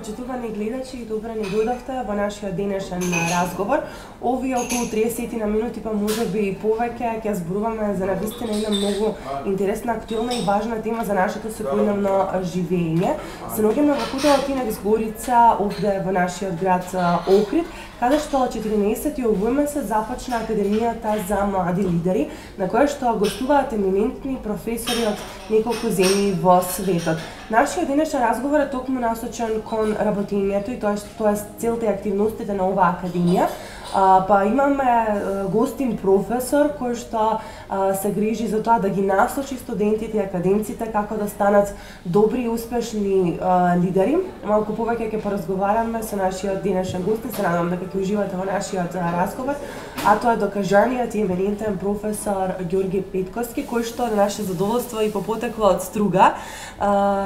почитувани гледачи, и добре ни дојдовте во нашиот денешен разговор. Овие околу 30 на минути, па можеби и повеќе, ќе зборуваме за навистина една многу интересна, актуелна и важна тема за нашето секојдневно живење. Се наоѓаме во хотелот Инекс Горица, овде во нашиот град Охрид, каде што 14 месец започна Академијата за млади лидери, на која што гостуваат еминентни професори од неколку земји во светот. Нашиот денешен разговор е токму насочен кон работењето и тоа е целта и активностите на оваа академија. Па имаме гостин професор кој што се грижи за тоа да ги насочи студентите и академците како да станат добри и успешни лидери. Малку повеќе ќе поразговараме со нашиот денешен гост, се надевам дека ќе уживате во нашиот разговор, а тоа е докажаниот и еминентен професор Ѓорги Петковски, кој што на наше задоволство и по потекло од Струга.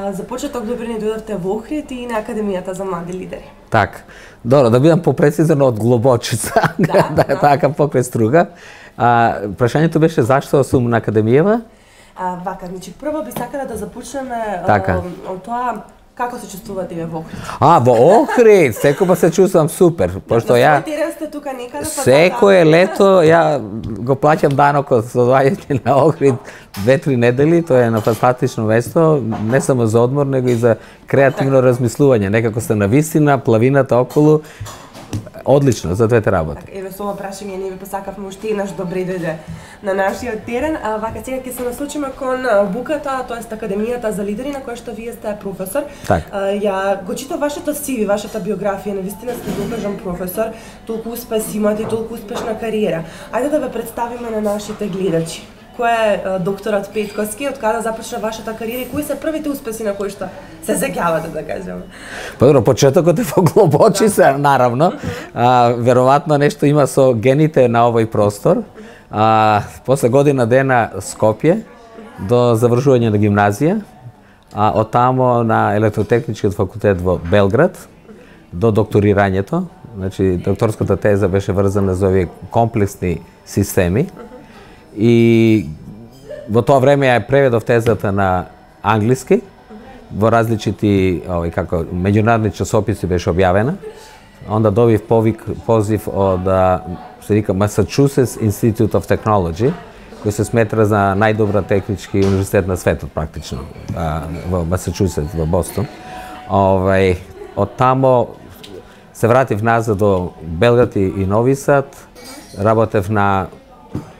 За почеток добре ни дојдовте во Охрид и на Академијата за млади лидери. Так, добро, да бидам попрецизен од Глобочица, да е така покрај Струга. Прашањето беше зашто сум на Академијава? Вака, значи прво би сакала да започнеме од тоа како се чувствувате во Охрид. Во Охрид, секој се чувствам супер, пошто ја тука некаде, секое лето ја го плаќам данокот со доаѓање на Охрид 2-3 недели, тоа е на фантастично место, не само за одмор, него и за креативно размислување, некако сте на вистина, плавината околу. Одлично за двете работи. Еве со ова прашање ние ви посакавме уште еднаш добре дојде на нашиот терен. Вака сега ќе се насочиме кон буката, тоест Академијата за лидери, на која што вие сте професор. Ја го читав вашето CV, вашата биографија, навистина сте докажан професор, толку успеси имате, толку успешна кариера. Ајде да ве представиме на нашите гледачи. Кој е докторот Петковски, од каде започна вашата кариера и кои се првите успеси на кои што се сеќавате, да кажеме? Добро, почетокот е во Глобочица, наравно. Веројатно нешто има со гените на овој простор. После година дена Скопје, до завршување на гимназија, од тамо на Електротехничкиот факултет во Белград, до докторирањето. Значи, докторската теза беше врзана за овие комплексни системи. И во тоа време ја преведов тезата на англиски, во различити меѓународни часописи беше објавена. Онда добив позив од се вика Massachusetts Institute of Technology, кој се сметра за најдобра технички универзитет на светот практично, во Масачусетс, во Бостон. Од тамо се вратив назад до Белград и Нови Сад, работев на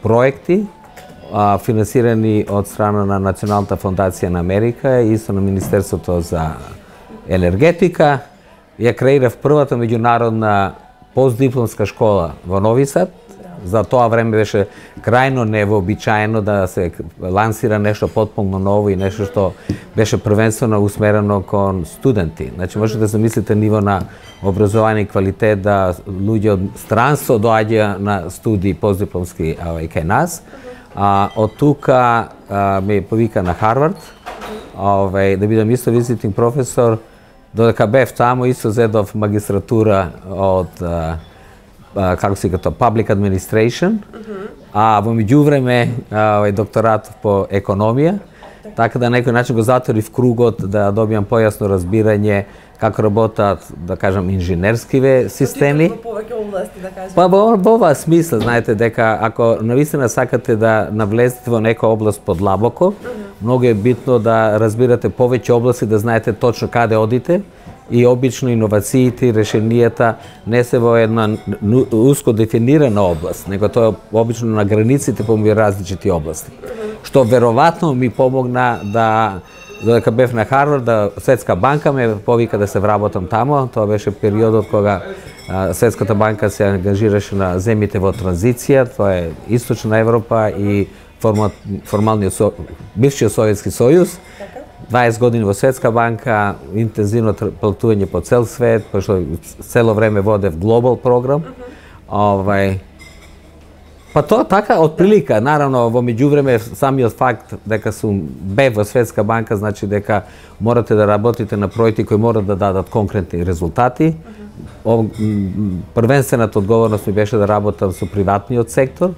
проекти финансирани од страна на Националната фондација на Америка и со на Министерството за енергетика. Ја креирав првата меѓународна постдипломска школа во Нови Сад. За тоа време беше крајно невообичаено да се лансира нешто потполно ново и нешто што беше првенствено усмерено кон студенти. Значи можете да замислите ниво на образование и квалитет да луѓе од странство доаѓа на студии постдипломски кај нас. Од тука ме повика на Харвард, да бидам исто визитинг професор, додека бев тамо исто зедов магистратура од како се вика Public Administration, во меѓувреме докторат по економија, така да на некој начин го затворив кругот да добиам појасно разбирање како работат, да кажам, инженерскиве системи. Во повеќе области, да кажем. Па во оваа смисла, знаете, дека ако навистина сакате да навлезете во некоја област подлабоко, многу е битно да разбирате повеќе области, да знаете точно каде одите, и обично иновациите и решенијата не се во една уско дефинирана област, него тоа е обично на границите помеѓу различити области. Што веројатно ми помогна да додека бев на Харвард, да Светска банка ме повика да се вработам тамо. Тоа беше периодот кога Светската банка се ангажираше на земјите во транзиција, тоа е Источна Европа и формалниот бившиот Советски сојуз. 20 години во Светска банка, интензивно патување по цел свет, пошто цело време водев глобал програм. Па тоа така од прилика, наравно во меѓувреме самиот факт дека сум бев во Светска банка значи дека морате да работите на проекти кои морат да дадат конкретни резултати. Првенствената одговорност ми беше да работам со приватниот сектор,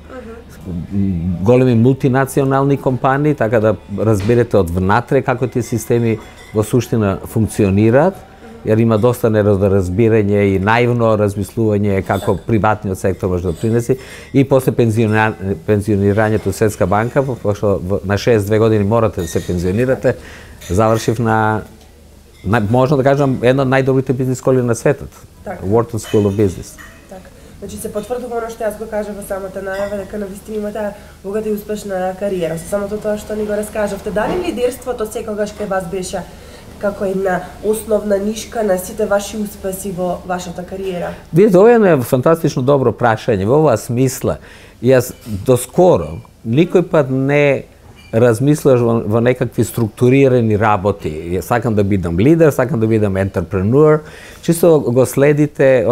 големи мултинационални компании, така да разберете од внатре како тие системи во суштина функционираат jer има доста неразбирање и наивно размислување како приватниот сектор може да принеси и после пензионирањето Светска банка, пошто на 62 години морате да се пензионирате, завршив на можно да кажам една од најдобрите бизнис школи на светот. Wharton School of Business. Значи се потврдува оно што јас го кажав во самата најава, дека навистина имате богата и успешна кариера. Со самото тоа што ни го раскажавте, дали лидерството секогаш кај вас беше како една основна нишка на сите ваши успеси во вашата кариера? Видите, ова е фантастично добро прашање. Во оваа смисла, јас доскоро никој пат не размислуваш во некакви структурирани работи. Сакам да бидам лидер, сакам да бидам ентерпренуер. Чисто го следите,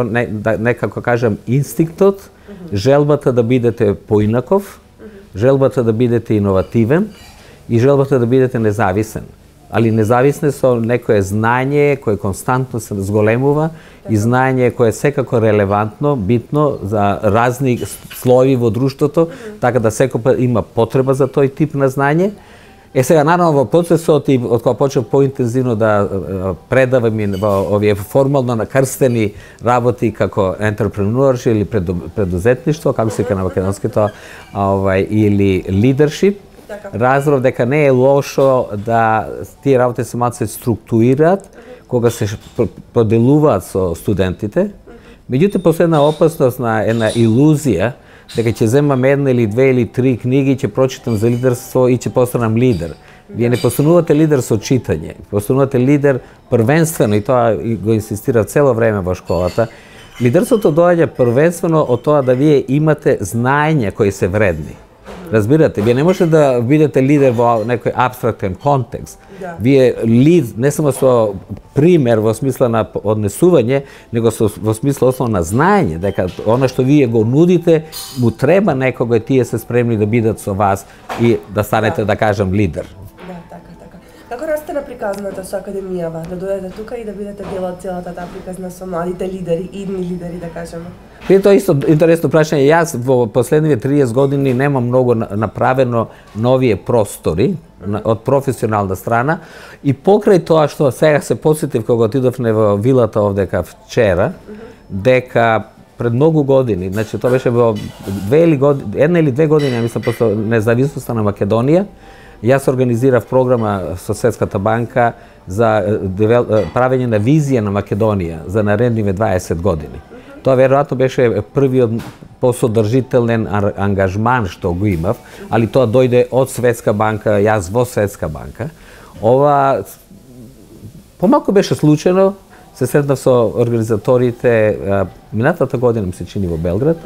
некако кажам, инстинктот, желбата да бидете поинаков, желбата да бидете иновативен и желбата да бидете независен. Али независен со некое знање кое константно се зголемува и знање кое е секако релевантно, битно за разни слоеви во друштвото, така да секој има потреба за тој тип на знање. Сега, наравно, во процесот и од кога почнав поинтензивно да предавам и во овие формално накрстени работи како ентерпренуершип или предузетништво, како се вика на македонското, или лидершип, разбрав дека не е лошо да тие работи се малку се структурираат кога се поделуваат со студентите. Меѓутоа, последна опасност на една илузија дека ќе земам една или две или три книги, ќе прочитам за лидерство и ќе постанам лидер. Вие не постанувате лидер со читање, постанувате лидер првенствено, и тоа го инсистира цело време во школата. Лидерството доаѓа првенствено од тоа да вие имате знаења кои се вредни. Разбирате, вие не можете да бидете лидер во некој абстрактен контекст. Вие не само со пример во смисла на однесување, него во смисла основно на знаење, дека она што вие го нудите, му треба некого и тие се спремни да бидат со вас и да станете, да кажам, лидер. Како расте на приказната со Академијава, да дојдете тука и да бидете дел од целата таа приказна со младите лидери, идни лидери, да кажеме? Тоа е исто интересно прашање. Јас во последниве 30 години немам многу направено новие простори од професионална страна и покрај тоа што сега се посетив кога отидовме во вилата овдека вчера, дека пред многу години, значи тоа беше во една или две години, ја мислам, после независноста на Македонија, јас организирав програма со Светската банка за правење на визија на Македонија за наредниве 20 години. Тоа веројатно беше првиот посодржителен ангажман што го имав, али тоа дојде од Светска банка, јас во Светска банка. Ова помалку беше случајно, се сретнав со организаторите минатата година, ми се чини, во Белград,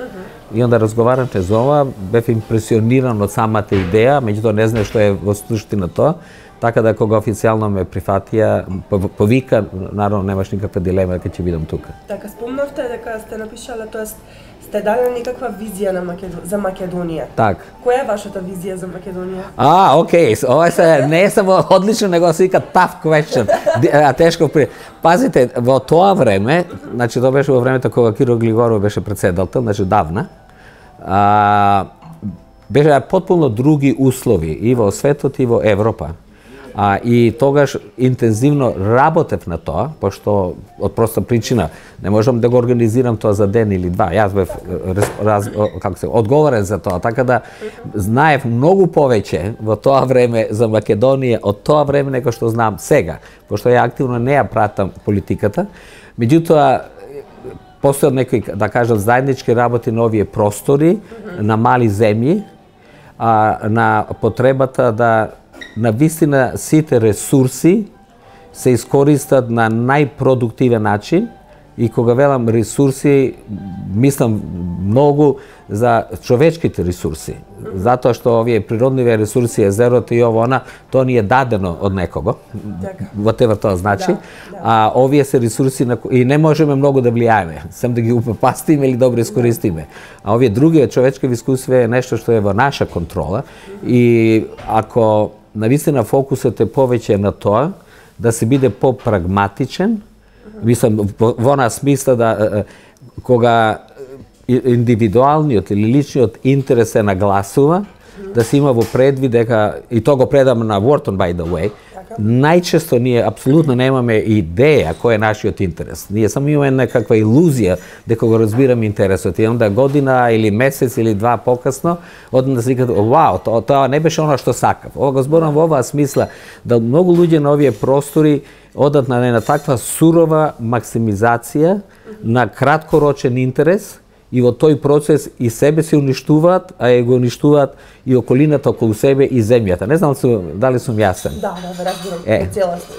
и онда разговаравме за ова, бев импресиониран од самата идеја, меѓутоа не знае што е во суштина тоа, така да кога официјално ме прифатија, повика, наравно немаш никаква дилема дека ќе бидам тука. Така, спомнавте дека сте напишале, тоест сте дали некаква визија за Македонија. Так. Која е вашата визија за Македонија? Окей, ова не е само одлично, него се вика tough question. Тешко Пазите, во тоа време, значи тоа беше во времето кога Киро Глигоров беше председател, значи давна, беше потполно други услови и во светот и во Европа. И тогаш интензивно работев на тоа, пошто од проста причина не можам да го организирам тоа за ден или два. Јас бев одговорен за тоа, така да знаев многу повеќе во тоа време за Македонија од тоа време него што знам сега, пошто ја активно не ја пратам политиката. Меѓутоа, постојат некои, да кажам, заеднички работи на овие простори, на мали земји, на потребата да на вистина сите ресурси се искористат на најпродуктивен начин и кога велам ресурси, мислам многу за човечките ресурси. Затоа што овие природниве ресурси, езерото и ово она, тоа ни е дадено од некого. Whatever тоа значи. Овие се ресурси и не можеме многу да влијаеме, сем да ги упропастиме или добро искористиме. Овие други човечки искуства е нешто што е во наша контрола и ако навистина фокусот е повеќе на тоа да се биде попрагматичен, мислам во онаа смисла да кога индивидуалниот или личниот интерес се нагласува, да се има во предвид дека, и тоа го предам на Wharton by the way, Најчесто ние апсолутно немаме идеја кој е нашиот интерес. Ние само имаме некаква илузија дека го разбираме интересот. И онда година или месец или два покасно, одна да се викат, вау, тоа не беше она што сакав. Ова го зборам во оваа смисла, да многу луѓе на овие простори одат на таква сурова максимизација на краткорочен интерес, и во тој процес и себе се уништуваат, а и го уништуваат и околината околу себе и земјата. Не знам дали сум јасен. Да, разбирам, целосно.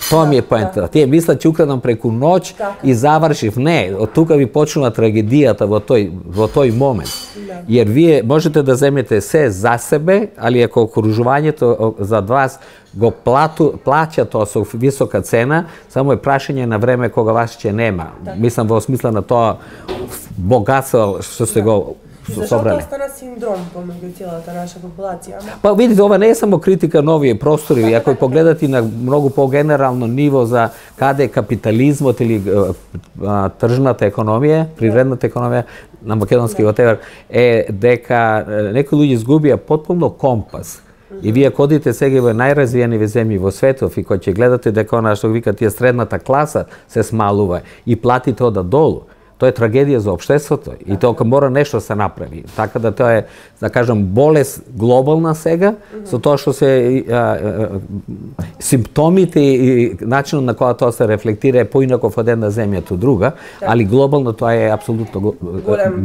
Тоа ми е поентата. Тие мислат ќе украдам преку ноќ и завршив. Не, од тука ви почнува трагедијата во тој момент. Јер вие можете да земете се за себе, али ако окружувањето за вас го плаќа тоа со висока цена, само е прашање на време кога вас ќе нема. Мислам во смисла на тоа богатство што се го собрале. Зашто остана синдром помеѓу целата наша популација? Па видите, ова не е само критика на овие простори, ако погледате на многу погенерално ниво за каде капитализмот или тржната економија, природната економија на македонски whatever, е дека некои луѓе изгубија потпуно компас. И вие кодите сега во најразвиени земји во светов и кога ќе гледате дека она што вика тие средната класа се смалува и платите ода долу, тоа е трагедија за општеството и тоа мора нешто се направи. Така да тоа е, да кажам, болест глобална сега, со тоа што се симптомите и начинот на која тоа се рефлектира е поинаков од една земја до друга, али глобално тоа е апсолутно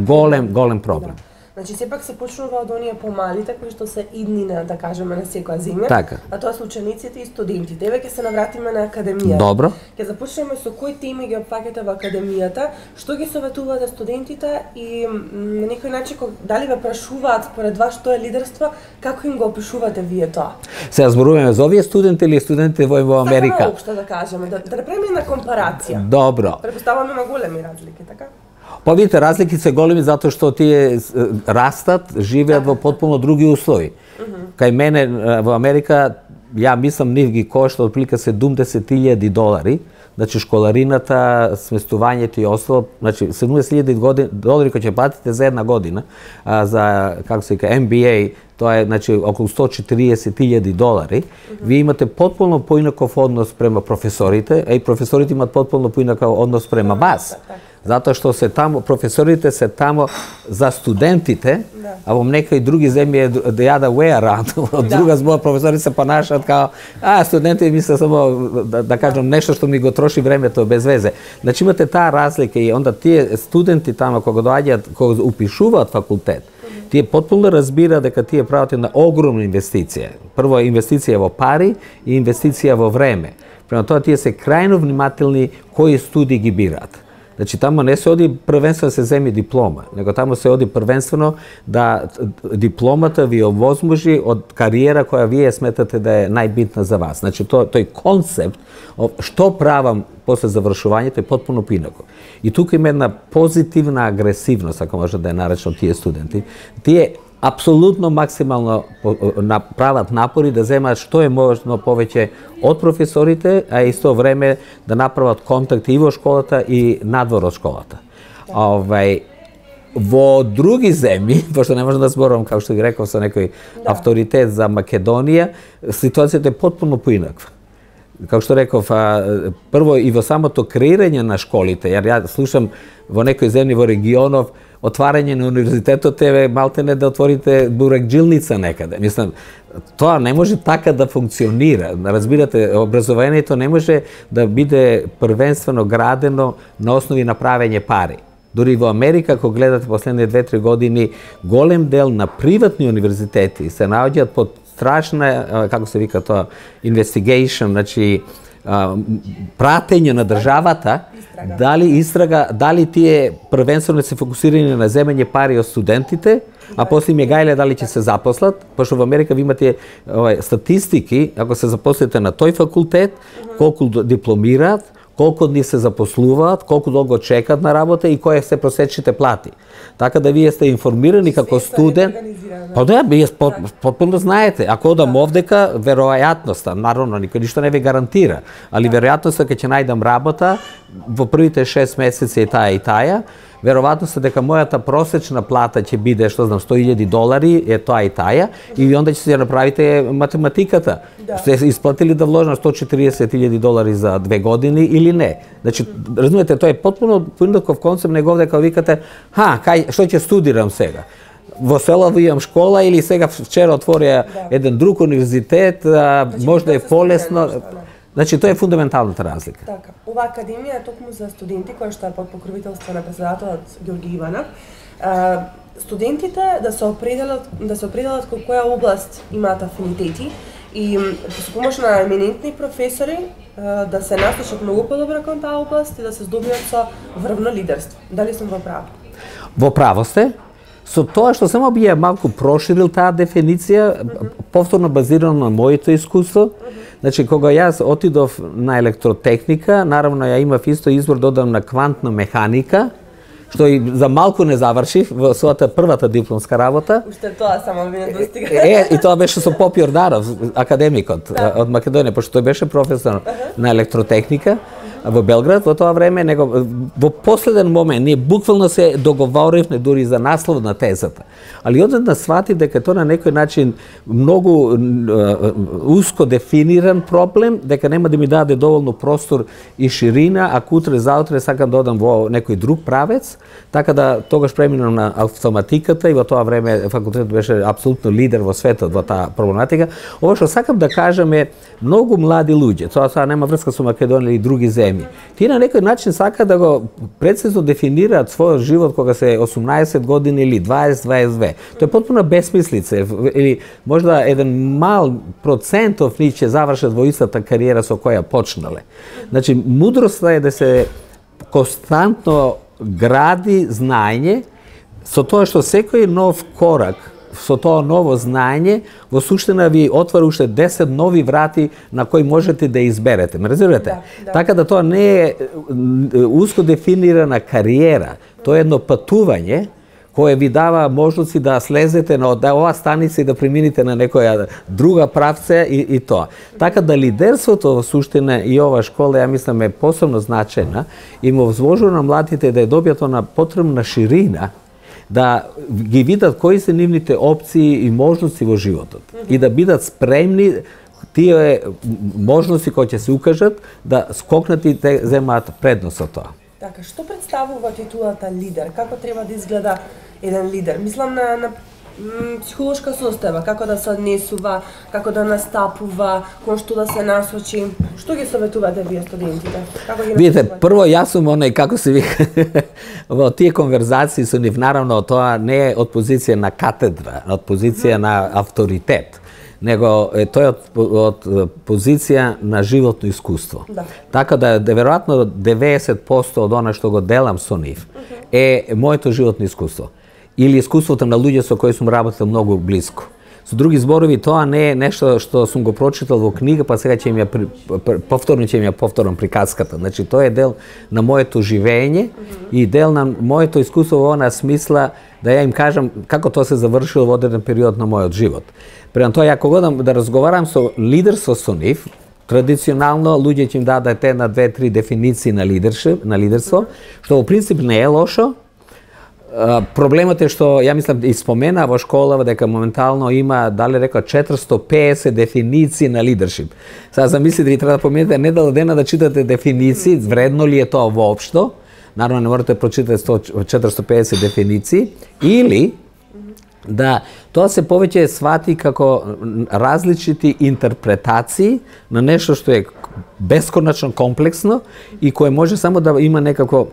голем проблем. Значи, сепак се почнува од оние помалите кои што се иднина, да кажеме, на секоја земја. Така. А тоа се учениците и студентите. Еве ќе се навратиме на академијата. Добро. Ќе започнеме со кои теми ги опфаќате во академијата, што ги советувате студентите и на некој начин дали ве прашуваат според вас што е лидерство, како им го опишувате вие тоа? Се зборуваме за овие студенти или студентите во Америка? Така општо да кажеме, да направиме една компарација. Добро. Претпоставувам има големи разлики, така? Па видите, разлики се големи затоа што тие растат, живеат во потпуно други услови. Кај мене во Америка, ја мислам, нив ги кошта отприлика $70,000, значи школарината, сместувањето и остало, значи $70,000 кои ќе платите за една година, за, како се вика, MBA, тоа е, значи, околу $140,000. Вие имате потполно поинаков однос према професорите, а и професорите имат потполно поинаков однос према вас. Затоа што се тамо, професорите се тамо за студентите, а во некои други земји е the other way around. Од друга збор професорите се понашаат као, студентите мислат само да кажам нешто што ми го троши времето без везе. Значи имате таа разлика и онда тие студенти тамо кога доаѓаат, кога упишуваат факултет, тие потполно разбираат дека тие прават една огромна инвестиција. Прво инвестиција во пари и инвестиција во време. Према тоа тие се крајно внимателни кои студии ги бираат. Значи, тамо не се оди првенствено да се земи диплома, него тамо се оди првенствено да дипломата ви овозможи од кариера која вие сметате да е најбитна за вас. Значи, тој концепт, што правам после завршувањето е потпуно поинако. И тука има една позитивна агресивност, ако може да ја наречам тие студенти. Тие апсолутно максимално прават напори да земаат што е можно повеќе од професорите, а исто време да направат контакти и во школата и надвор од школата. Во други земји, пошто не можам да зборувам, како што ги реков, со некој авторитет за Македонија, ситуацијата е потпуно поинаква. Како што реков, прво и во самото креирање на школите, ја слушам во некои земји во регионов, отварање на универзитетот е малтене да отворите бурекджилница некаде. Мислам, тоа не може така да функционира. Разбирате, образованието не може да биде првенствено градено на основи на правење пари. Дури во Америка, ако гледате последните 2-3 години, голем дел на приватни универзитети се наоѓаат под страшна, како се вика тоа, investigation, значи пратење на државата, дали тие првенствено се фокусирани на земење пари од студентите, а после им е гајле дали ќе се запослат, пошто во Америка ви имате статистики, ако се запослите на тој факултет, колку дипломираат, колку од нив се запослуваат, колку долго чекаат на работа и кои се просечните плати. Така да вие сте информирани како студент. Па да, вие потpuno знаете. Ако одам овдека, веројатноста, наравно, никој ништо не ви гарантира, али веројатноста ќе најдам работа во првите 6 месеци и таа, веројатно се дека мојата просечна плата ќе биде, што знам, $100,000, е тоа и таја, и онда ќе се направите математиката. Сте исплатили да вложам $140,000 за 2 години или не? Значи, разумете, тоа е потпуно поинаков концепт, него дека викате, што ќе студирам сега? Во село имам школа или сега вчера отворија еден друг универзитет, може да е полесно. Значи, тоа е фундаменталната разлика. Така. Ова академија е токму за студенти, која што е под покровителство на председателот Ѓорги Иванов. Студентите да се определат кон која област имаат афинитети и со помош на еминентни професори да се насочат многу подобро кон таа област и да се здобиат со врвно лидерство. Дали сум во право? Во право сте. Со тоа што само би ја малку проширил таа дефиниција, повторно базирано на моето искуство. Значи, кога јас отидов на електротехника, наравно ја имав исто избор да одам на квантна механика, што и за малку не завршив во својата првата дипломска работа. Уште тоа само ми не достига. И тоа беше со Поп Јорданов, академикот од Македонија, пошто тој беше професор на електротехника во Белград во тоа време, него во последен момент ние буквално се договоривме дури за наслов на тезата. Али одеднаш свати дека тоа на некој начин многу уско дефиниран проблем, дека нема да ми даде доволно простор и ширина, ако утре заутре сакам да одам во некој друг правец, така да тогаш преминам на автоматиката и во тоа време факултетот беше апсолутно лидер во светот во таа проблематика. Ова што сакам да кажам е многу млади луѓе, тоа нема врска со Македонија или други земји. Тие на некој начин сака да го прецизно дефинираат својот живот кога се 18 години или 20-22. Тоа е потпуна бесмислица, или можда еден мал процентов нив ќе завршат во истата кариера со која почнале. Значи, мудроста е да се константно гради знаење, со тоа што секој нов корак, со тоа ново знаење, во суштина ви отвара уште 10 нови врати на кои можете да изберете. Ме разбирате? Да. Така да тоа не е уско дефинирана кариера, тоа е едно патување кое ви дава можности да слезете на оваа станица и да премините на некоја друга правца и тоа. Така да лидерството во суштина и ова школа, ја мислам, е посебно значајна и му возможува на младите да ја добијат она потребна ширина, да ги видат кои се нивните опции и можности во животот и да бидат спремни тие можности кои ќе се укажат да скокнат и да земаат предност од тоа. Така, што представува титулата лидер? Како треба да изгледа еден лидер? Мислам на психолошка состојба, како да се однесува, како да настапува, кон што да се насочи. Што ги советувате вие студентите? Како ги Видите, прво јас сум оној, како се вика, во тие конверзации со нив, наравно тоа не е од позиција на катедра, од позиција на авторитет, него тоа е од позиција на животно искуство. Да. Така да, веројатно 90% од она што го делам со нив е моето животно искуство. Или искуството на луѓе со кои сум работел многу близко. Со други зборови, тоа не е нешто што сум го прочитал во книга, па сега ќе ми ја повторам приказката. Значи, тоа е дел на моето живење и дел на моето искуство во она смисла да ја им кажам како тоа се завршило во одреден период на мојот живот. Према тоа, ја кога да разговарам со лидерство со нив, традиционално луѓе ќе им дадат една, две, три дефиниции на лидерство, што во принцип не е лошо. Проблемот е што, ја мислам, и спомена во школа дека моментално има, дали рекла, 450 дефиниции на лидершип. Сега замислите, ви треба да поминете недела дена да читате дефиниции, вредно ли е тоа воопшто? Наравно не можете да прочитате 450 дефиниции, или да тоа се повеќе свати како различити интерпретации на нешто што е бесконачно комплексно и кое може само да има некако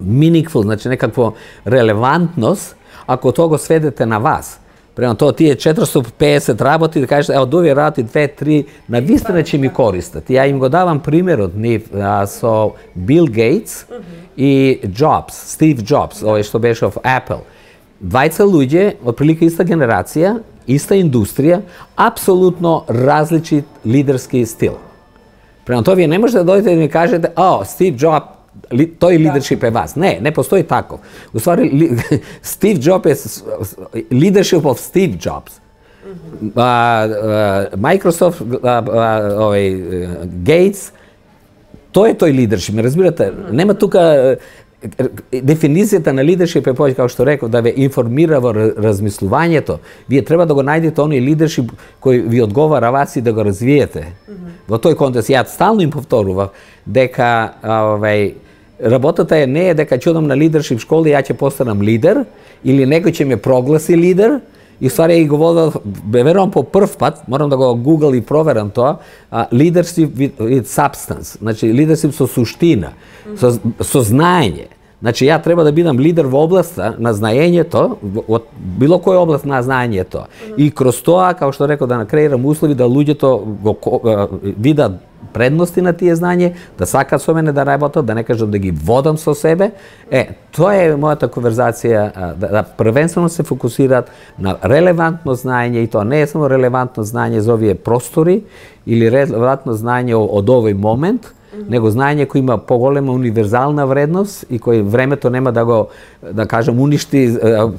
meaningful, значи некаква релевантност, ако тоа го сведете на вас. Према тоа тие 450 работи, да кажете, од овие работи 2-3 на вистина ќе ми користат. Ја им го давам примерот нив со Бил Гейтс и Джобс, Стив Джобс, овој што беше од Apple. Двајца луѓе, од прилика иста генерација, иста индустрија, апсолутно различит лидерски стил. Према тоа вие не можете да дојдете да ми кажете, Стив Джобс, тој лидершип е вас. Не постои тако. Уствари, Стив Джобс е лидершип од Стив Джобс. Microsoft, Гейтс, тој е тој лидершип, ме разбирате? Нема тука дефиницијата на лидершип е повеќе, како што реков, да ве информира во размислувањето. Вие треба да го најдете оној лидершип кој ви одговара вас и да го развиете. Во тој контекст, ја стално им повторував дека работата не е дека ќе одам на лидершип школа и ја ќе постанам лидер, или некој ќе ме прогласи лидер, и ствари го водат, верувам по прв пат, морам да го гугл и проверам тоа, leadership with substance, значи leadership со суштина, со знаење. Значи ја треба да бидам лидер во областа на знаењето, од било која област на знаењето. И кроз тоа, како што реков, да накреирам услови да луѓето го видат предности на тие знање, да сакаат со мене да работат, да не кажат да ги водам со себе. Тоа е мојата конверзација, да првенствено се фокусираат на релевантно знаење, и тоа не е само релевантно знаење за овие простори или релевантно знаење од овој момент, него знаење кој има поголема универзална вредност и кој времето нема да го, да кажем, уништи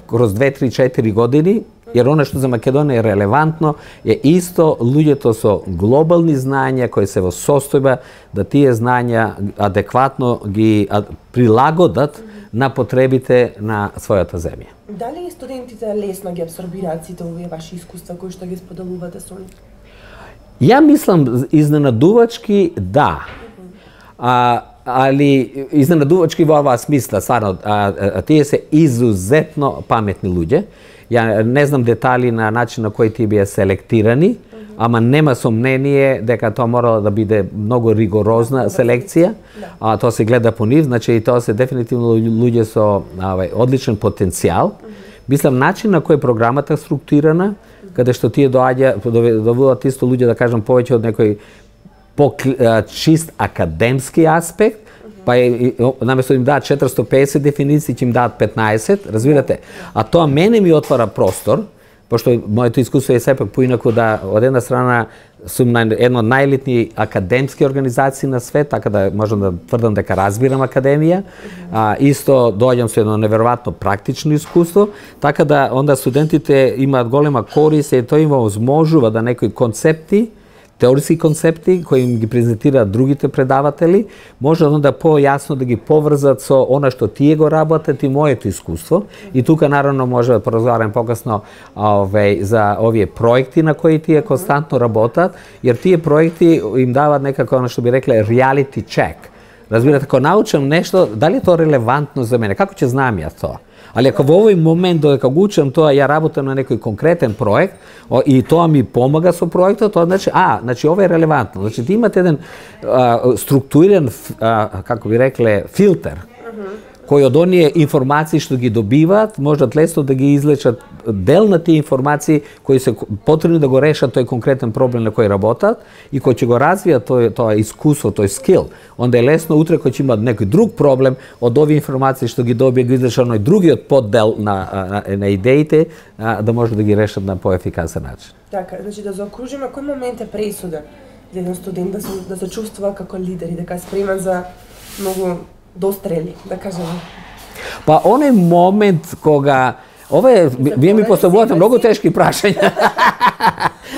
кроз 2, 3, 4 години, jer ono što za Makedoniju je relevantno je isto ljuđeto so globalni znanja koji se sostojiva da tije znanja adekvatno gi prilagodat na potrebite na svojата земја. Дали студентите лесно ги абсорбираат сите овие ваши искуства кои што ги споделувате со нив? Ја мислам изненадувачки да. Ali iznenaduvачки во оваа смисла, стварно, тие се изузетно паметни луѓе. Ја не знам детали на начин на кој тие бија селектирани, ама нема сомнение дека тоа морало да биде многу ригорозна селекција. Тоа се гледа по нив, значи и тоа се дефинитивно луѓе со одличен потенцијал. Мислам, начин на кој програмата структурирана, каде што тие доведуваат исто луѓе, да кажам, повеќе од некој по-чист академски аспект, па наместо им дадат 450 дефиниции, ќе им дадат 15, разбирате? А тоа мене ми отвара простор, пошто моето искуство е сепак поинаку да, од една страна, сум на една од најелитни академски организации на свет, така да можам да тврдам дека разбирам академија. Исто доаѓам со едно неверојатно практично искуство, така да онда студентите имаат голема корист и тоа им возможува да некои концепти, теориски концепти кои им ги презентираат другите предаватели, може onda појасно да ги поврзат со она што тие го работат и моето искуство. И тука наравно може да поразговарам покасно за овие проекти на кои тие константно работат, jer тие проекти им даваат некако она што би рекле reality check. Разбирате, ако научам нешто, дали е тоа релевантно за мене, како ќе знам ја тоа? Ali ako во овој момент додека го учам тоа, ја работам на некој конкретен проект и тоа ми помага со проектот, тоа значи, значи ова е релевантно. Значи ти имате еден структуриран, како би рекле, филтер, кој од оние информации што ги добиваат, можат лесно да ги излечат дел на тие информации кои се потребни да го решат тој конкретен проблем на кој работат и кој ќе го развијат тоа искуство, тој скил. Онда е лесно утре кој ќе имат некој друг проблем од овие информации што ги добија, ги излечат оној другиот поддел на идеите, да може да ги решат на поефикасен начин. Така, значи да заокружиме, кој момент е пресуден за еден студент да се чувствува како лидер и дека е спремен за многу дострели, да кажеме? Па оној момент кога вие ми поставувате многу тешки прашања.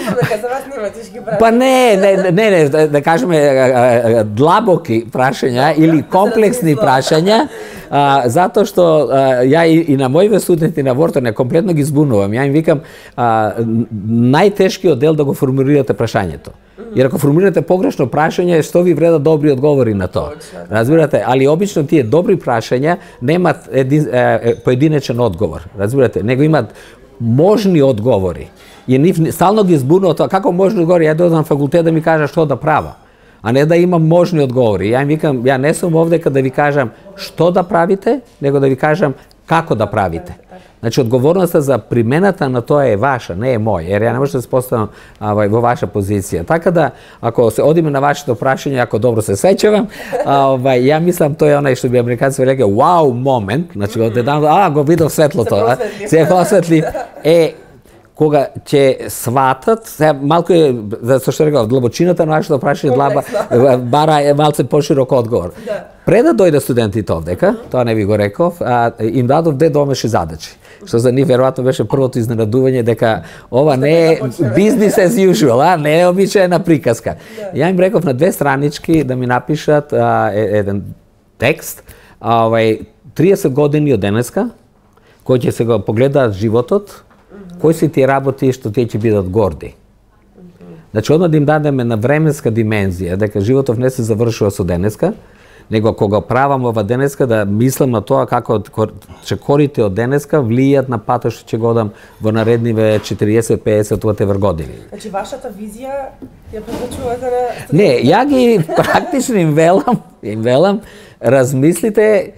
Дека за вас нема тешки прашања. Па не, да кажеме длабоки прашања или комплексни прашања, затоа што ја и на моите студенти на Вортон комплетно ги збунувам. Ја им викам најтешкиот дел да го формулирате прашањето. Jer ако формулирате погрешно прашање, што ви вредат добри одговори на тоа? Разбирате, али обично тие добри прашања немаат поединечен одговор, разбирате, него имаат можни одговори. И нив стално ги збунува тоа, како можни одговори, ја дојдам на факултет да ми кажа што да правам, а не да имам можни одговори. Ја им викам, ја не сум овдека да ви кажам што да правите, него да ви кажам како да правите. Значи, одговорноста за примената на тоа е ваша, не е мој, jer ја не може да се поставам во ваша позиција. Така да, ако се одиме на вашето прашање, ако добро се сеќавам, ја мислам тоа е онај што би американци реке вау момент, значи одеднаш го видов светлото, се посветли, кога ќе сватат, малку е, зашто што рекав, длабочината на вашето прашање бара е малце поширок одговор. Пред да дојде студентите овдека, тоа не ви го реков, им дадов 2 домашни задачи, што за нив веројатно беше првото изненадување дека ова не е business as usual, не е обичаена приказка. Ја им реков на 2 странички да ми напишат еден текст 30 години од денеска, кои ќе се го погледаат животот, кои се тие работи што тие ќе бидат горди. Значи, одма да им дадеме на временска димензија, дека животов не се завршува со денеска, него кога правам ова денеска да мислам на тоа како чекорите од денеска влијат на патот што ќе го дам во наредниве 40-50 whatever години. Значи, вашата визија ја препорачувате на... Не, ја ги практично им велам, размислите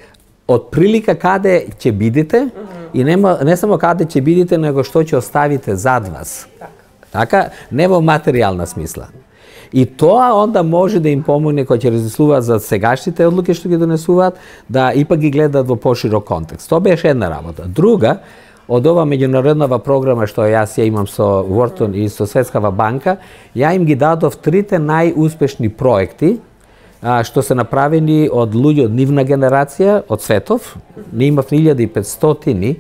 од прилика каде ќе бидете и не само каде ќе бидете, него што ќе оставите зад вас. Така, не во материјална смисла. И тоа онда може да им помогне кога ќе размислуваат за сегашните одлуки што ги донесуваат, да ипак ги гледаат во поширок контекст. Тоа беше една работа. Друга, од ова меѓународнава програма што јас ја имам со Wharton и со Светскава банка, ја им ги дадов 3 најуспешни проекти што се направени од луѓе од нивна генерација, од светов. Не имав 1500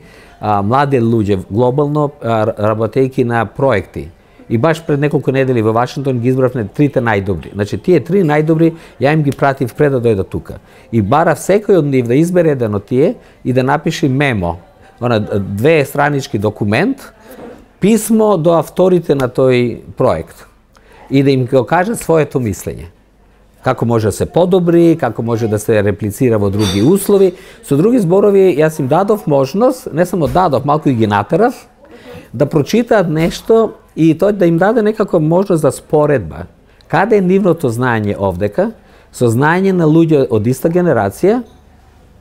млади луѓе глобално работејки на проекти. И баш пред неколку недели во Вашингтон ги избравме 3 најдобри. Значи, тие 3 најдобри, ја им ги пратив пред да дојдат тука. И барав секој од нив да избере еден од тие и да напише мемо, 2 странички документ, писмо до авторите на тој проект. И да им го кажат своето мислење. Како може да се подобри, како може да се реплицира во други услови. Со други зборови, јас им дадов можност, не само дадов, малку и ги натерав, да прочитаат нешто и тој да им даде некако можност за споредба. Каде е нивното знаење овдека, со знаење на луѓе од иста генерација,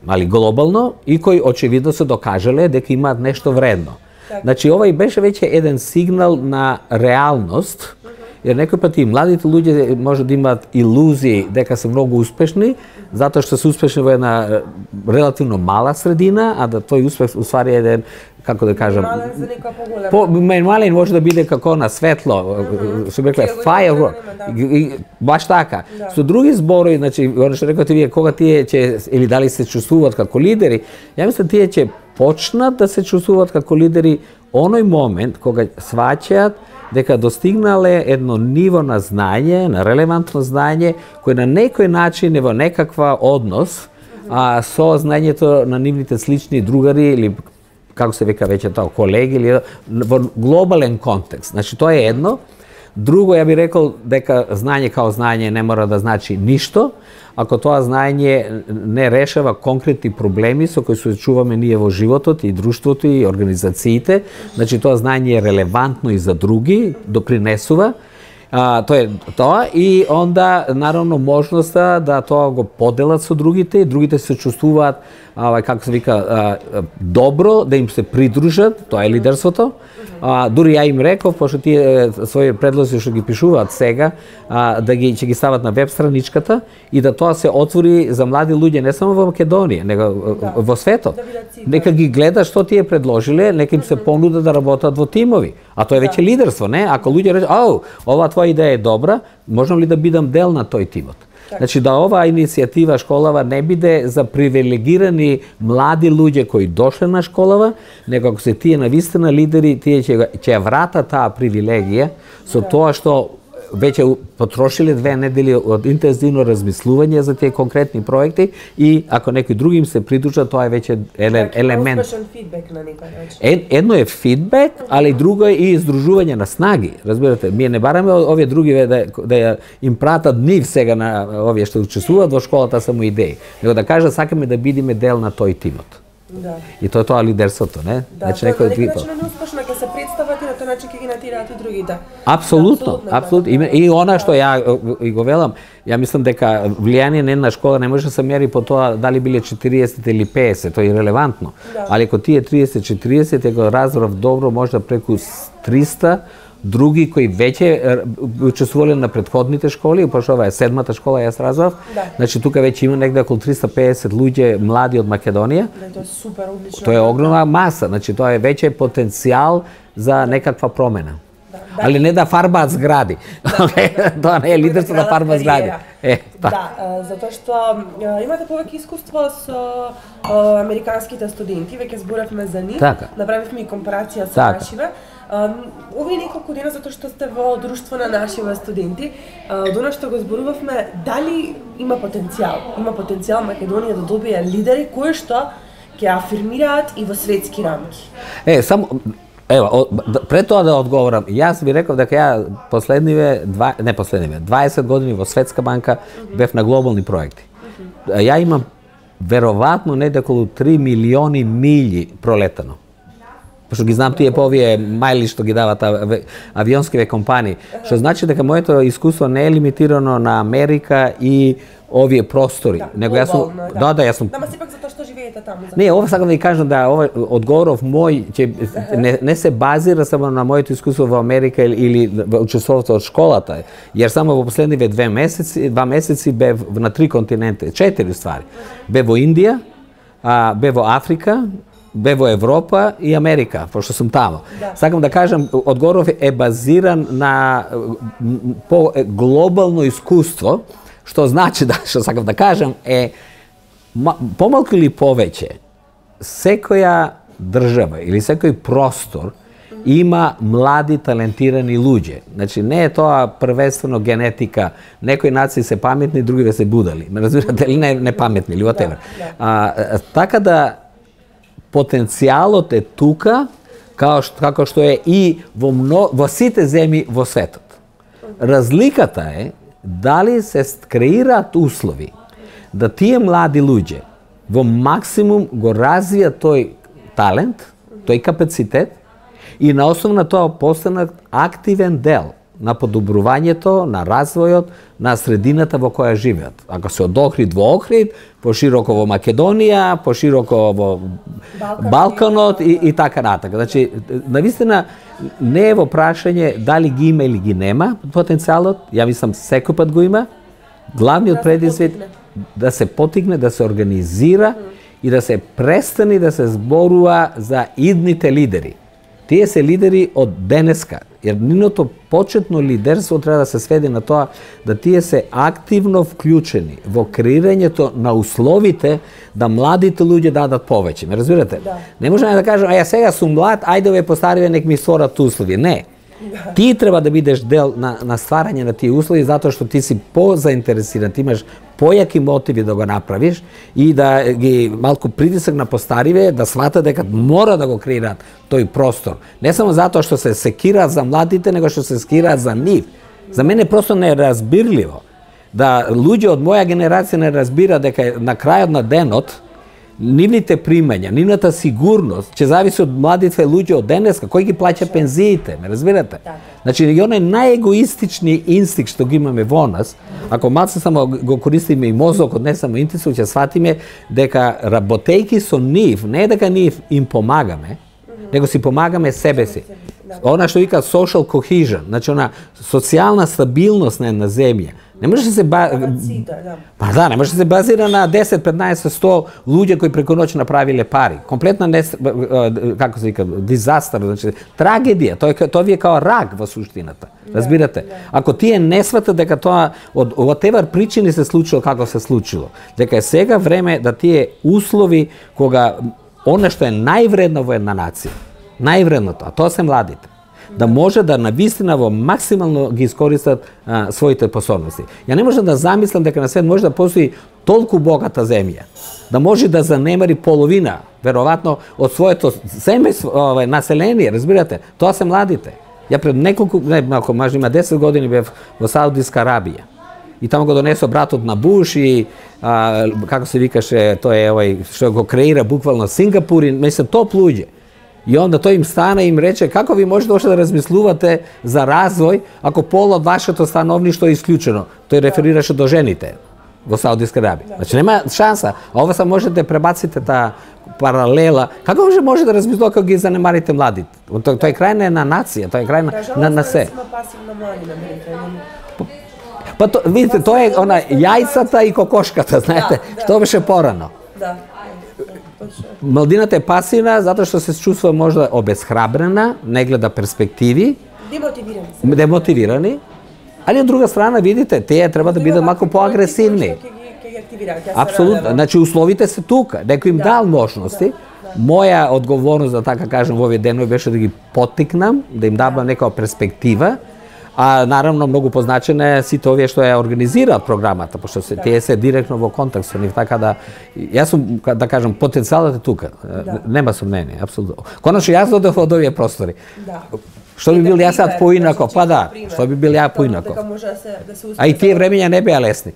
али глобално, и кои очевидно се докажале дека имаат нешто вредно. Значи, ова и беше веќе еден сигнал на реалност, jer некој пати младите луѓе може да имаат илузии дека се многу успешни, затоа што се успешни во една релативно мала средина, а да тој успех уствари еден, како да кажам, минимален може да биде како на светло, што рекле firework. Баш така. Со други зборови, значи, оно што рекоте вие, кога тие ќе или дали се чувствуваат како лидери, ја мислам тие ќе почнат да се чувствуваат како лидери оној момент кога сваќаат дека достигнале едно ниво на знаење, на релевантно знаење, кој на некој начин е во некаква однос со знаењето на нивните слични другари или како се века веќе тоа, колеги или во глобален контекст. Значи тоа е едно. Друго, ја би рекол дека знаење као знаење не мора да значи ништо, ако тоа знаење не решава конкретни проблеми со кои се чуваме ние во животот и друштвото и организациите, значи тоа знаење е релевантно и за други, допринесува. Тоа е тоа и онда наравно можноста да тоа го поделат со другите и другите се чувствуваат како се вика добро да им се придружат, тоа е лидерството. Дури ја им реков, пошто тие своји предлози што ги пишуваат сега, да ќе ги стават на веб страничката и да тоа се отвори за млади луѓе не само во Македонија, него во светот. Нека ги гледа што тие предложиле, нека им се понуда да работат во тимови. А тоа е веќе лидерство, не? Ако луѓе рече, ова твоја идеја е добра, можам ли да бидам дел на тој тимот? Значи да оваа иницијатива школава не биде за привилегирани млади луѓе кои дошле на школава, него ако се тие навистина лидери, тие ќе вратат таа привилегија со тоа што веќе потрошиле 2 недели од интензивно размислување за тие конкретни проекти и ако некои други им се придружат, тоа е веќе елемент. Успешен фидбек на некој начин. Едно е фидбек, али друго е и издружување на снаги. Разбирате, ние не бараме овие други да им пратат нив сега на овие што учествуваат во школата само идеи, него да кажат сакаме да бидеме дел на тој тимот. Да. И тоа лидерството, не? Значи некој начин неуспешно ќе се представат и на тој начин ќе ги натираат и другите. Апсолутно, апсолутно. И она што ја и го велам, ја мислам дека влијание на една школа не може да се мери по тоа дали биле 40 или 50, тоа е ирелевантно. Али ако тие 30-40 е го разбрав добро, може да преку 300 други кои веќе учествувале на претходните школи, пошто ова е 7-та школа, јас разбрав. Значи тука веќе има негде околу 350 луѓе млади од Македонија. Тоа е супер одлично. Тоа е огромна маса, значи тоа е веќе потенцијал за некаква промена. Али не да фарбаат згради. Тоа не е лидерство да фарбаат згради. Затоа што имате повеќе искуство со американските студенти, веќе зборавме за нив, направивме и компарација со нашиве. Овие неколку дена, затоа што сте во друштво на нашиве студенти, од она што го зборувавме, дали има потенцијал? Има потенцијал Македонија да добие лидери кои што ќе афирмираат и во светски рамки? Пред тоа да одговорам, јас би реков дека ја 20 години во Светска банка бев на глобални проекти. Ја имам веројатно неколку 3 милиони милји пролетано. Пошто ги знам тие по овие мајли што ги дават авионскиве компании, што значи дека моето искуство не е лимитирано на Америка и овие простори, него јас сум јас сум сепак затоа што живеете таму. Не, ова сакам да ви кажам да ова одговоров мој ќе не се базира само на моето искуство во Америка или во учеството од школата, јер само во последниве 2 месеци бев на 3 континенти, 4 ствари. Бев во Индија, бев во Африка, бе во Европа и Америка, пошто сум таму. Сакам да кажам, одговоров е базиран на по глобално искуство, што значи што сакам да кажам е помалку или повеќе секоја држава или секој простор има млади талентирани луѓе. Значи не е тоа првенствено генетика, некои нации се паметни, другиве се будали. Ме разбирате или не паметни или whatever. Така да потенцијалот е тука, како што е и во сите земји во светот. Разликата е дали се креираат услови да тие млади луѓе во максимум го развијат тој талент, тој капацитет и на основа на тоа постанат активен дел на подобрувањето, на развојот, на средината во која живеат. Ако се од Охрид во Охрид, пошироко во Македонија, пошироко во Балканот и така натака. Значи, навистина не е во прашање дали ги има или ги нема потенцијалот, ја мислам секој пат го има. Главниот предизвик да се потигне, да се организира и да се престани да се зборува за идните лидери. Тие се лидери од денеска, jer ниното почетно лидерство треба да се сведе на тоа да тие се активно вклучени во креирањето на условите да младите луѓе дадат повеќе. Ме разбирате? Да. Не можеме да кажеме, ја сега сум млад, ајде овие постариве нек ми створат услови. Не. Ти треба да бидеш дел на стварање на тие услови затоа што ти си позаинтересиран, ти имаш појаки мотиви да го направиш и да ги малку притисак на постариве да сватат дека мора да го креираат тој простор. Не само затоа што се секираат за младите, него што се секираат за нив. За мене просто не е разбирливо да луѓе од моја генерација не разбира дека на крајот на денот нивните примања, нивната сигурност ќе зависи од младите луѓе од денеска, кој ги плаќа пензиите, ме разбирате? Значи, и оној најегоистични инстинкт што ги имаме во нас, ако малце само го користиме и мозокот, не само интуиција, ќе сватиме дека работејки со нив, не дека нив им помагаме, него си помагаме себе си. Она што вика social cohesion, значи она социјална стабилност на една земја. Не може да се не може да се базира на 10, 15, 100 луѓе кои преку ноќ направиле пари. Комплетна како се вика, дизастер, значи трагедија. Тоа ви е као рак во суштината. Разбирате? Ако тие не сватат дека тоа од whatever причини се случило како се случило, дека е сега време да тие услови кога она што е највредно во една нација, највредното, а тоа се младите, да може да навистина во максимално ги искористат своите способности. Ја не можам да замислам дека на свет може да постои толку богата земја, да може да занемари половина, веројатно, од своето население, разбирате? Тоа се младите. Ја пред може има 10 години бев во Саудиска Арабија. И таму го донесо братот на Буш и како се викаше, тој е овој што го креира буквално Сингапур и мислам топ луѓе. И онда тој им стана и им рече како ви можете още да размислувате за развој ако пол од вашето становништво е исклучено. Тој реферираше до жените во Саудиска Арабија. Значи нема шанса. А ова са можете да пребаците таа паралела. Како може да размислува кога ги занемарите младите? Тоа е крај на една нација, тоа е крај на се. Па видите, тоа е она јајцата и кокошката, знаете, што беше порано. Младината е пасивна затоа што се чувствува можда обесхрабрена, не гледа перспективи, демотивирани, али од друга страна видите, тие треба да бидат малку поагресивни. Апсолутно, значи условите се тука, некој им дал можности, Моја одговорност, да така кажем, во овие денови беше да ги поттикнам, да им дадам некоја перспектива, а наравно многу позначена е сите овие што ја организираат програмата, пошто тие се директно во контакт со нив, така да јас сум, да кажам, потенцијалот е тука. Нема сомнение, апсолутно. Конечно јас додев од овие простори. Што би бил јас сад поинако? Па да, што би бил ја поинако? А и тие времења не беа лесни.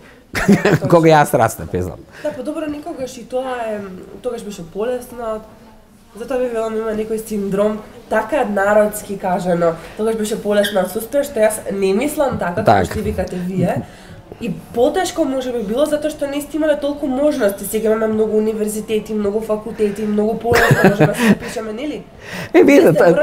Кога јас растем, пезнам. Да, подобро никогаш и тоа е, тогаш беше полесно. Затоа би велам има некој синдром, така народски кажано, тогаш беше полесна отсутствие, што јас не мислам така, како што викате вие. И потешко може би било затоа што не сте имале толку можности. Сега имаме многу универзитети, многу факултети, многу полесно можеме да се пишеме, нели? Видете,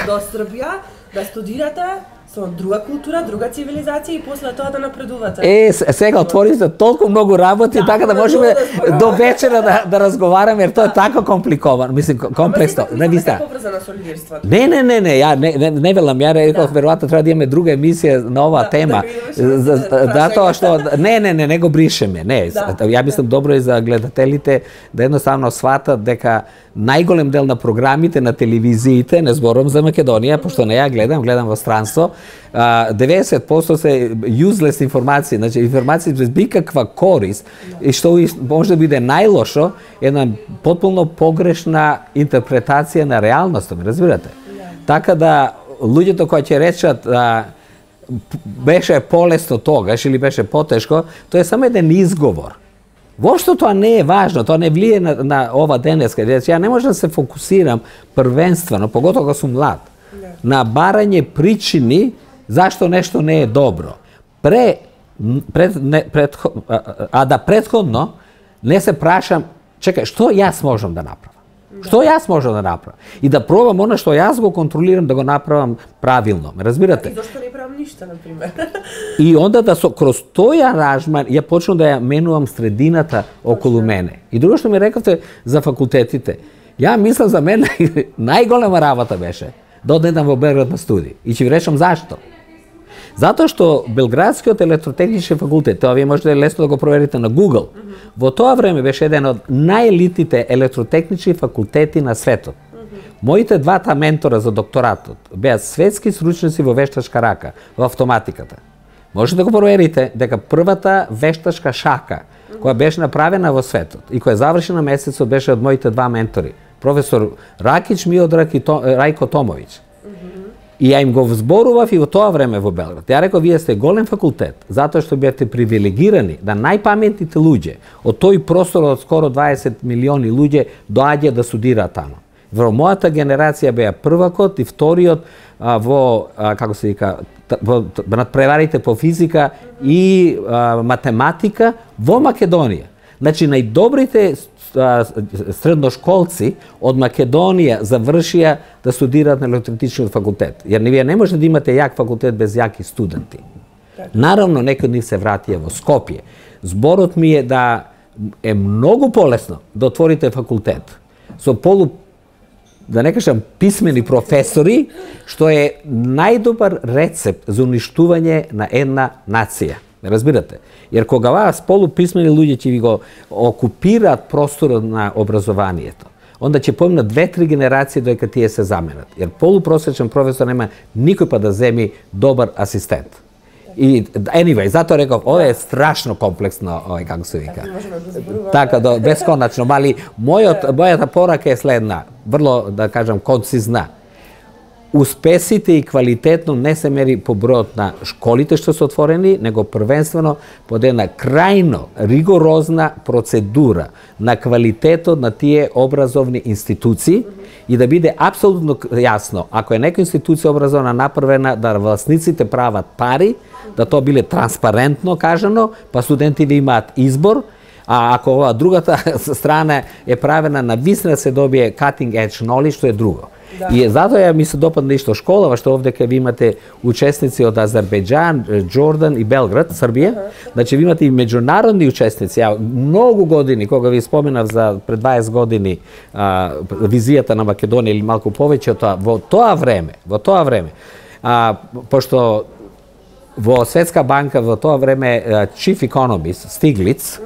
до Србија да студирате со друга култура, друга цивилизација и после тоа да напредувате. Сега отворите толку многу работи, така да можеме до вечера да разговараме, jer тоа е така компликовано, мислим, комплексно. Не виста. Поврзана со лидерството. Не, ја не велам, ја реков веројатно треба да имаме друга емисија на оваа тема. Затоа што не го бришеме, не. Ја мислам добро и за гледателите да едноставно сватат дека најголем дел на програмите на телевизиите, не зборувам за Македонија, пошто не ја гледам во странство, 90% се useless информации, значи информации без никаква корист и што може да биде најлошо, една потполно погрешна интерпретација на реалноста, ме разбирате? Така да луѓето кои ќе речат беше полесно тогаш или беше потешко, тоа е само еден изговор. Воопшто тоа не е важно, тоа не влие на ова денеска. Ја не можам да се фокусирам првенствено, поготово кога сум млад, на барање причини зашто нешто не е добро. А да претходно не се прашам, чекај, што јас можам да направам? Што јас можам да направам? И да пробам она што јас го контролирам да го направам правилно. Ме разбирате? И зашто не правам ништо, например? И онда да кроз тој аранжман ја почнам да ја менувам средината околу мене. И друго што ми рековте за факултетите. Ја мислам за мене најголема работа беше да одедам во Белград на студии. И ќе ви речам зашто. Затоа што Белградскиот електротехнички факултет, тоа вие можете лесно да го проверите на Google, во тоа време беше еден од најелитните електротехнички факултети на светот. Моите двата ментора за докторатот беа светски стручњаци во вештачка рака, во автоматиката. Можете да го проверите дека првата вештачка шака која беше направена во светот и која завршена месецот беше од моите два ментори, професор Ракич Миодрак и Рајко Томовиќ. И ја им го зборував и во тоа време во Белград. Ја реков, вие сте голем факултет, затоа што бевте привилегирани да најпаметните луѓе од тој простор од скоро 20 милиони луѓе доаѓа да студираат таму. Во мојата генерација беа првакот и вториот во, како се вика, надпреварите по физика и математика во Македонија. Значи, најдобрите средношколци од Македонија завршија да студираат на електротехнички факултет. Јер вие не можете да имате јак факултет без јаки студенти. Наравно, некои од нив се вратија во Скопје. Зборот ми е да е многу полесно да отворите факултет со да не кажам писмени професори, што е најдобар рецепт за уништување на една нација. Разбирате? Jer кога вас полуписмени луѓе ќе ви го окупираат просторот на образованието, онда ќе поминат 2-3 генерации додека тие се заменат. Jer полупросечен професор нема никој па да земи добар асистент. И anyway, затоа реков, ова е страшно комплексно, како се вика. Така, бесконачно, мали мојата порака е следна, врло, да кажам, концизна. Успесите и квалитетно не се мери по бројот на школите што се отворени, него првенствено под една крајно ригорозна процедура на квалитетот на тие образовни институции и да биде апсолутно јасно, ако е нека институција образовна направена да власниците прават пари, да тоа биле транспарентно кажано, па студентите имаат избор, а ако ова другата страна е правена на висина се добие cutting edge knowledge, што е друго. И затоа ми се допадна исто школава, што овдека ви имате учесници од Азербејџан, Џордан и Белград, Србија. Значи ви имате и меѓународни учесници. Ја многу години, кога ви споменав за пред 20 години визијата на Македонија или малку повеќе од тоа, во тоа време, пошто во Светска банка во тоа време chief economist Стиглиц,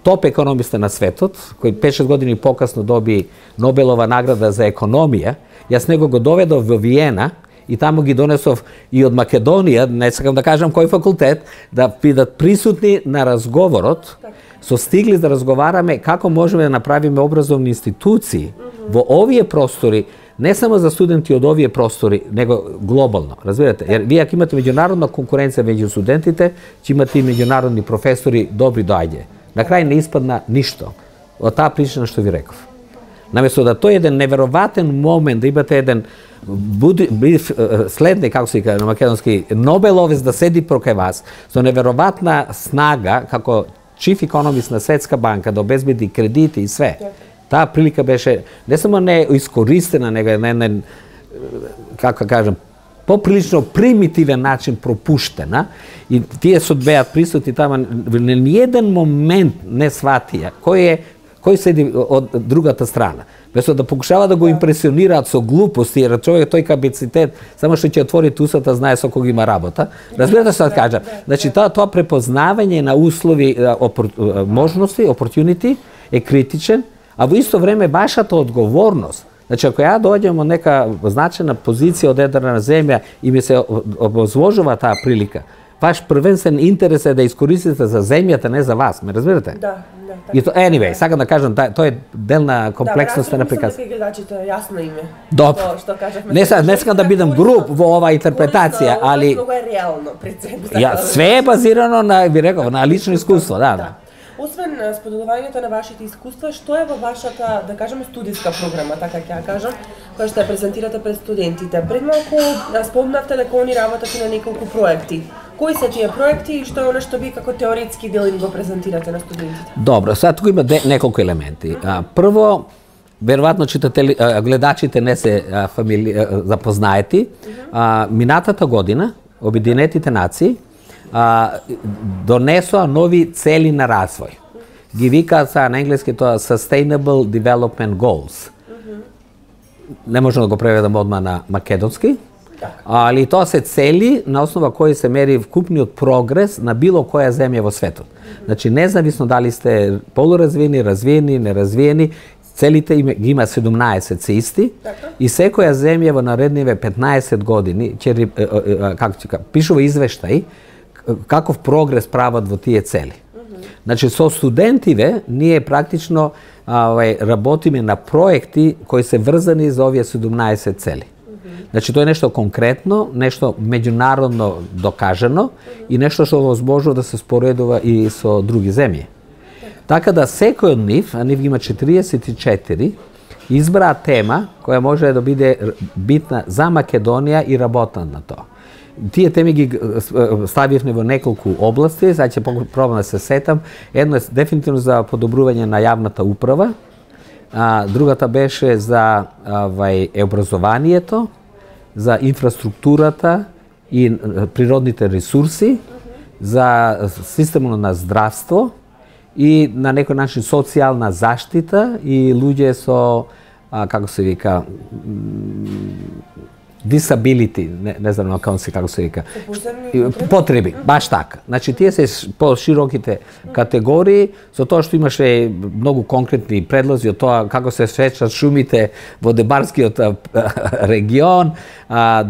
топ економиста на светот, кој 5-6 години покасно доби Нобелова награда за економија. Јас него го доведов во Виена и таму ги донесов и од Македонија, не сакам да кажам кој факултет, да бидат присутни на разговорот, со стигли да разговараме како можеме да направиме образовни институции во овие простори, не само за студенти од овие простори, него глобално, разбирате? Jer вие ако имате меѓународна конкуренција меѓу студентите, ќе имате и меѓународни професори добри доаѓе. На крај не испадна ништо од таа причина што ви реков. Наместо да тој еден неверојатен момент, да имате еден следник, како се каже на македонски, Нобеловец да седи проке вас, со неверојатна снага, како чиф економист на Светска банка, да обезбеди кредити и све. Таа прилика беше не само не искористена, него еден, како кажам, поприлично примитивен начин пропуштена и тие што беат присутни тама на ниеден момент не сватија кој седи од другата страна. Вместо да покушава да го импресионираат со глупости, jer човек тој капацитет само што ќе отвори усата знае со кого има работа. Разбирате што да кажам? Значи тоа препознавање на услови, можности, opportunity е критичен, а во исто време вашата одговорност. Значи, ако ја доаѓам од нека значена позиција од една земја и ми се обозложува таа прилика, ваш првенствен интерес е да искористите за земјата, не за вас, ме разбирате? Да. И то, anyway, сакам да кажам, тоа е дел на комплексноста на приказ. Да, гледачите јасно име. Добро. Не сакам да бидам груб во оваа интерпретација, али многу е реално пред себе. Ја све е базирано на, ви реков, на лично искуство, да. Освен споделувањето на вашите искуства, што е во вашата, да кажеме, студиска програма, така ќе ја кажам, која што ја презентирате пред студентите? Пред малку спомнавте дека они работат и на неколку проекти. Кои се тие проекти и што е она што ви како теоретски дел им го презентирате на студентите? Добро, сега туку има неколку елементи. Прво, веројатно читатели, гледачите не се запознаети. Минатата година Обединетите нации донесоа нови цели на развој. Ги викаат на енглески тоа Sustainable Development Goals. Не можам да го преведам одма на македонски, али тоа се цели на основа кои се мери вкупниот прогрес на било која земја во светот. Значи, независно дали сте полуразвиени, развиени, неразвиени, целите ги има 17 се исти и секоја земја во наредниве 15 години ќе пишува извештај каков прогрес прават во тие цели. Значи, со студентиве ние практично работиме на проекти кои се врзани за овие 17 цели. Значи, тоа е нешто конкретно, нешто меѓународно докажано и нешто што возможно да се споредува и со други земји. Така да секој од нив, а нив ги има 44, избраа тема која може да биде битна за Македонија и работат на тоа. Тие теми ги ставивме во неколку области, сега ќе пробам да се сетам. Едно е дефинитивно за подобрување на јавната управа, другата беше за образованието, за инфраструктурата и природните ресурси, за системот на здравство и на некој начин социјална заштита и луѓе со, како се вика, disability, не знам како се вика, потреби, баш така. Значи, тие се по-широките категории, со тоа што имаше многу конкретни предлози од тоа како се сечат шумите во Дебарскиот регион,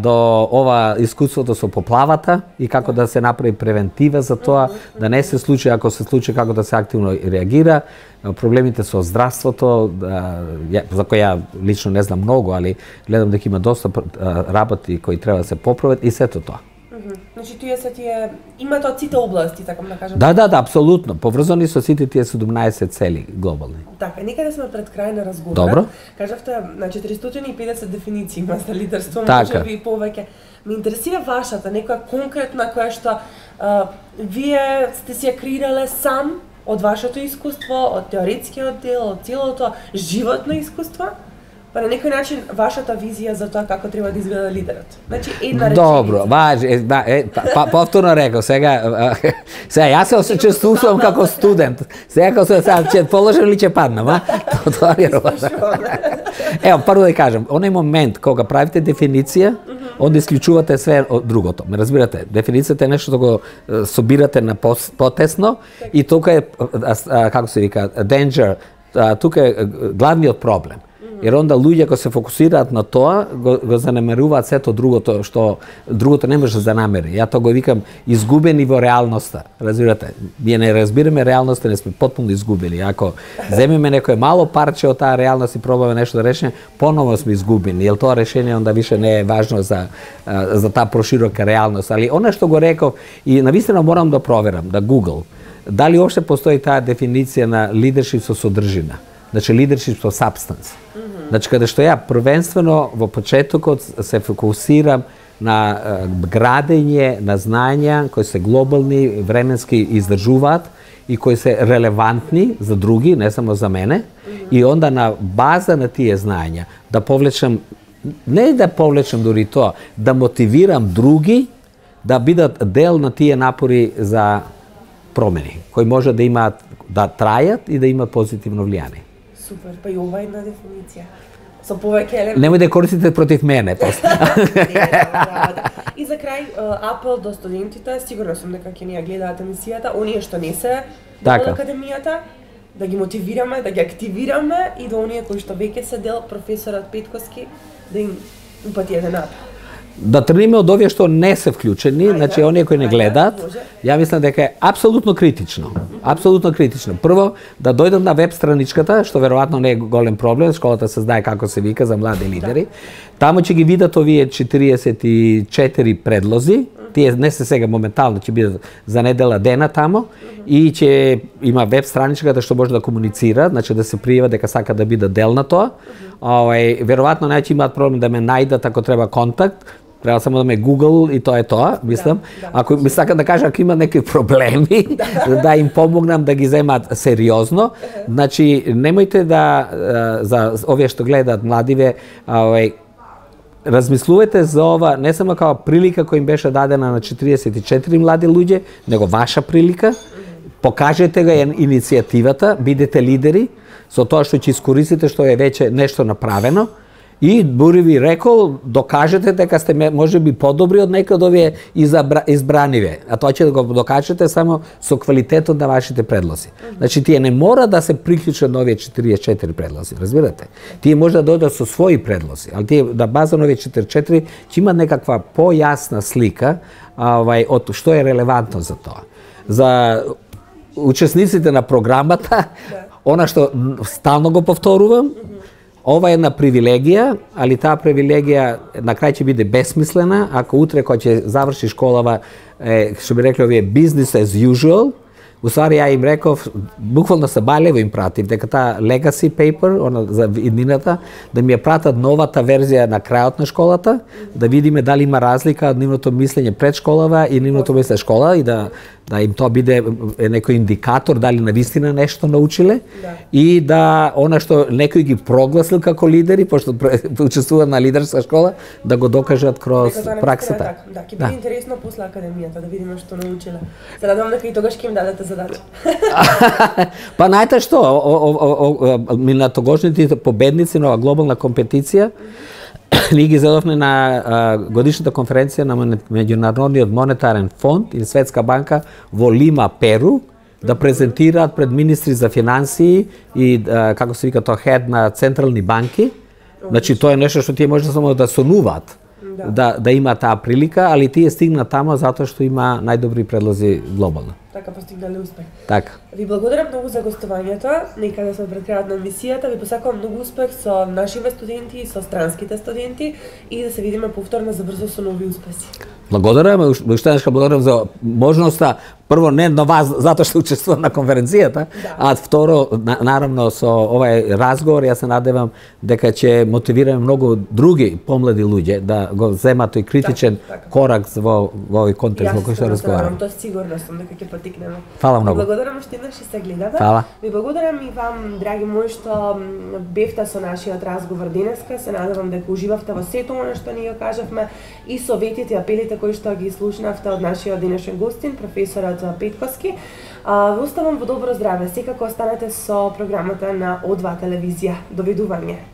до ова искуството со поплавата и како да се направи превентива за тоа, да не се случи, ако се случи, како да се активно реагира, проблемите со здравството, за кои ја лично не знам многу, али гледам дека има доста работи кои треба да се поправат и сето тоа. Значи, тие имаат од сите области, така да кажам. Да, поврзани поврзани со сите тие 17 цели глобални. Така, некаде сме пред крај на разговорот. Добро. Кажавте на 450 дефиниции има за лидерство, така. Може би повеќе. Ме интересира вашата, некоја конкретна која што вие сте си ја креирале сам од вашето искуство, од теоретскиот дел, од целото животно искуство, Па на некој начин вашата визија за тоа како треба да изгледа лидерот. Значи една реченица. Добро, повторно рекол, сега јас се осчувствувам како студент. Сега како се ќе положам или ќе паднам, а? Тоа е Ево, прво да кажам, оној момент кога правите дефиниција, онда исклучувате све од другото. Ме разбирате? Дефиницијата е нешто што го собирате на потесно и тука е, како се вика, danger, тука е главниот проблем. Jer onda луѓе кои се фокусираат на тоа, го занемеруваат сето другото, што другото не може да намери. Ја тоа го викам изгубени во реалноста. Разбирате? Ние не разбираме реалноста, не сме потпуно изгубени. Ако земеме некое мало парче од таа реалност и пробаме нешто да решиме, поново сме изгубени. Јел тоа решение онда више не е важно за таа проширока реалност. Али она што го реков и навистина морам да проверам, да Google, дали уопште постои таа дефиниција на лидершип со содржина. Значи лидершип со substance. Значи каде што ја првенствено во почетокот се фокусирам на градење на знања кои се глобални, временски издржуваат и кои се релевантни за други, не само за мене, и онда на база на тие знања да повлечам, не да повлечам дури тоа, да мотивирам други да бидат дел на тие напори за промени, кои може да имаат, да трајат и да имаат позитивно влијание. Супер, па и ова една дефиниција. Со повеќе елементи. Немој да користите против мене, после. И за крај, апел до студентите, сигурно сум дека ќе ни ја гледаат емисијата, оние што не се дел од академијата, да ги мотивираме, да ги активираме и до оние кои што веќе се дел, професорот Петковски, да им упати еден апел. Да тргнеме од овие што не се вклучени, значи оние кои не гледаат, ја мислам дека е апсолутно критично. Апсолутно критично. Прво, да дојдат на веб страничката, што веројатно не е голем проблем, школата се знае како се вика за млади лидери. Таму ќе ги видат овие 44 предлози, тие не се сега моментално, ќе бидат за недела дена тамо, и ќе има веб страничката што може да комуницира, значи да се пријава дека сака да биде дел на тоа. Веројатно не ќе имаат проблем да ме најдат ако треба контакт, треба само да ме Google и тоа е тоа, мислам. Ако ми сака да кажа ако има некои проблеми, да им помогнам да ги земат сериозно. Значи немојте да за овие што гледаат младиве, размислувате за ова не само како прилика која им беше дадена на 44 млади луѓе, него ваша прилика. Покажете го иницијативата, бидете лидери со тоа што ќе искористите што е веќе нешто направено. И дури ви рекол, докажете дека сте можеби подобри од некои од овие избраниве, а тоа ќе го докажете само со квалитетот на вашите предлози. Значи тие не мора да се приклучат на овие 44 предлози, разбирате? Тие може да дојдат со своји предлози, али тие на база на овие 44 ќе имат некаква појасна слика од што е релевантно за тоа. За учесниците на програмата, она што стално го повторувам, ова е една привилегија, али таа привилегија на крај ќе биде бесмислена ако утре кога ќе заврши школава, што би рекле овие business as usual. Усвари ја им реков, буквално се балево им пратив дека таа legacy paper, она за иднината, да ми ја пратат новата верзија на крајот на школата, да видиме дали има разлика од нивното мислење пред школава и нивното мислење школа и да им тоа биде некој индикатор дали навистина нешто научиле и да она што некој ги прогласил како лидери, пошто учествуваат на лидерска школа, да го докажат кроз праксата. Да, ќе биде интересно после академијата да видиме што научиле. Се надевам дека и тогаш ќе им дадете задача. Па знаете што, минатогожните победници на глобална компетиција, ние ги зедовме на годишната конференција на Меѓународниот монетарен фонд и Светска банка во Лима, Перу, да презентираат пред министри за финансии и, како се вика тоа, хед на централни банки. Значи, тоа е нешто што тие може само да сонуваат, да има таа прилика, али тие стигнат тамо затоа што има најдобри предлози глобално. Така постигнале успех. Така. Ви благодарам многу за гостувањето. Нека да сме пред крајот на емисијата. Ви посакувам многу успех со нашите студенти и со странските студенти и да се видиме повторно за брзо со нови успеси. Благодарам, уште благодарам за можноста, прво не на вас затоа што учествувам на конференцијата, а второ наравно со овај разговор јас се надевам дека ќе мотивираме многу други помлади луѓе да го земат тој критичен корак во овој контекст во кој што разговарам. Тоа сигурно сум дека ќе дотикнеме. Фала многу. Благодарам што еднаш се гледате. Фала. Ви благодарам и вам, драги мои, што бевте со нашиот разговор денеска. Се надевам дека уживавте во сето она што ни го кажавме и советите и апелите кои што ги слушнавте од нашиот денешен гостин, професорот Петковски. Ве оставам во добро здраве. Секако останете со програмата на О2 телевизија. Довидување.